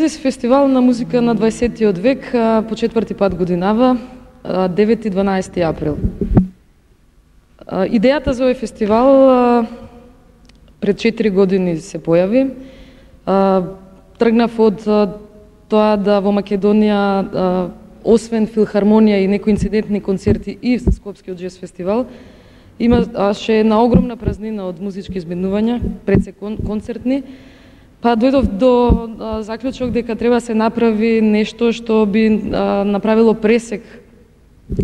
Синтезис фестивал на музика на 20-тиот век по четврти пат годинава, 9-12 април. Идејата за овој фестивал пред 4 години се појави. Тргнав од тоа да во Македонија, освен филхармонија и некои инцидентни концерти и Скопскиот джез фестивал, имаше една огромна празнина од музички изменувања, пред се концертни, па дојдов до заклучок дека треба се направи нешто што би направило пресек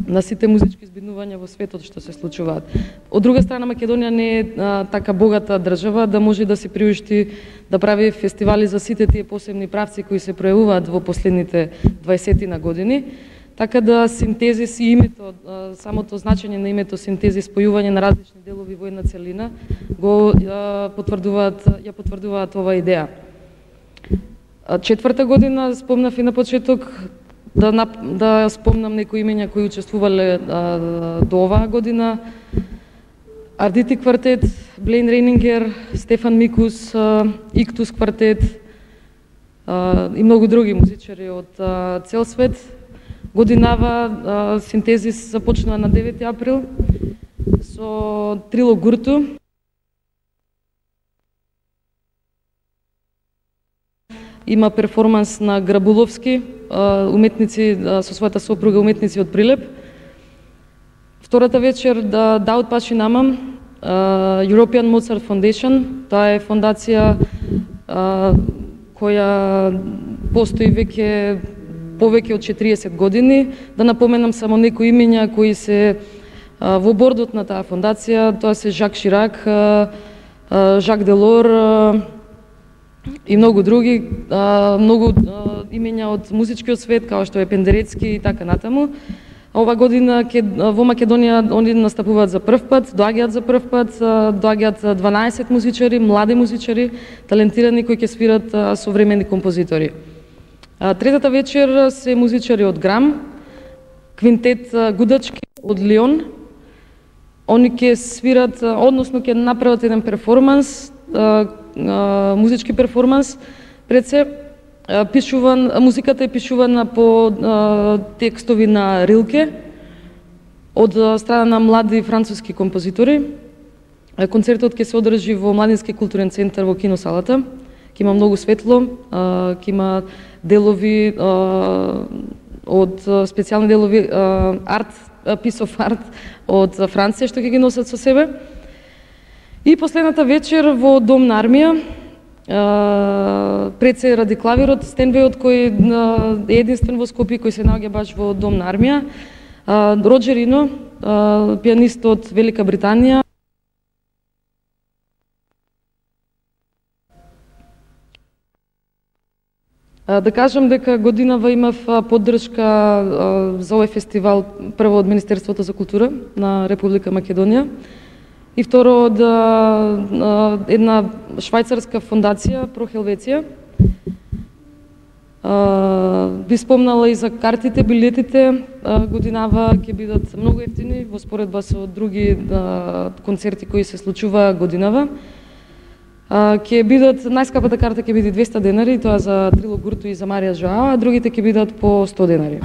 на сите музички избиднувања во светот што се случуваат. Од друга страна, Македонија не е така богата држава да може да се приушти да прави фестивали за сите тие посебни правци кои се пројавуваат во последните 20 години. Така да синтезис и името, самото значење на името синтезис, спојување на различни делови во една целина, потврдуваат оваа идеја. Четврта година, спомнав и на почеток, да спомнам некои имења кои учествувале до оваа година. Ардити квартет, Блейн Рейнингер, Стефан Микус, Иктус квартет и многу други музичари од цел свет. Годинава синтезис започнува на 9 април со Трило Гурту. Има перформанс на Грабуловски, уметници со својата сопруга, уметници од Прилеп. Втората вечер Даут Паши Намам, European Mozart Foundation. Таа е фондација која постои повеќе од 40 години. Да напоменам само некои имења кои се во бордот на таа фондација. Тоа се Жак Ширак, Жак Делор и многу други, многу имења од музичкиот свет, као што е Пендерецки и така натаму. Ова година во Македонија они настапуваат за прв пат, доаѓаат за прв пат, доаѓаат 12 музичари, млади музичари, талентирани кои ќе свират современи композитори. Третата вечер се музичари од Грам, квинтет Гудачки од Лион. Они ќе свират, односно ќе направат еден перформанс, музички перформанс, пред се музиката е пишувана по текстови на Рилке од страна на млади француски композитори. Концертот ќе се одржи во Младински културен центар во киносалата. Ќе има многу светло, ќе има делови од специјални делови piece of art од Франција што ќе ги носат со себе. И последната вечер во Дом на армија, пред се ради клавирот, стенбејот кој е единствен во Скопје, кој се наоѓа баш во Дом на армија, Роджер Ино, пианист од Велика Британија. Да кажам дека годинава имав поддршка за овој фестивал прво од Министерството за култура на Република Македонија и второ од една швајцарска фондација Про Хелвеција. Би спомнала и за картите, билетите. Годинава ќе бидат многу ефтини во споредба со други концерти кои се случува годинава. Ќе бидат, најскапата карта ќе биде 200 денари, тоа за Трило Гурту и за Марија Жоао, а другите ќе бидат по 100 денари.